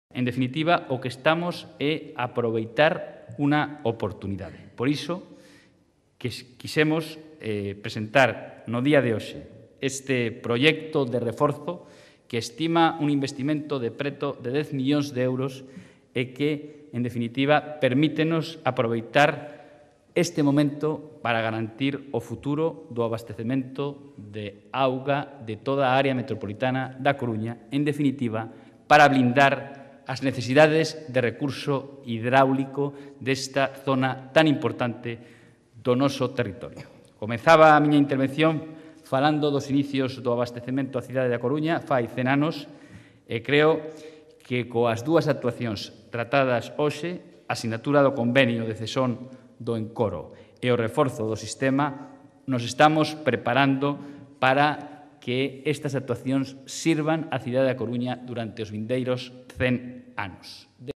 En definitiva, o que estamos é aproveitar unha oportunidade. Por iso, que quixemos presentar no día de hoxe este proxecto de reforzo que estima un investimento de preto de 10 millóns de euros e que, en definitiva, permítenos aproveitar este momento para garantir o futuro do abastecemento de auga de toda a área metropolitana da Coruña, en definitiva, para blindar as necesidades de recurso hidráulico desta zona tan importante do noso territorio. Comezaba a miña intervención falando dos inicios do abastecemento á cidade da Coruña fai 100 anos e creo que coas dúas actuacións tratadas hoxe, a sinatura do convenio de cesión do encoro e o reforzo do sistema, nos estamos preparando para que estas actuacións sirvan á cidade da Coruña durante os vindeiros 100 anos.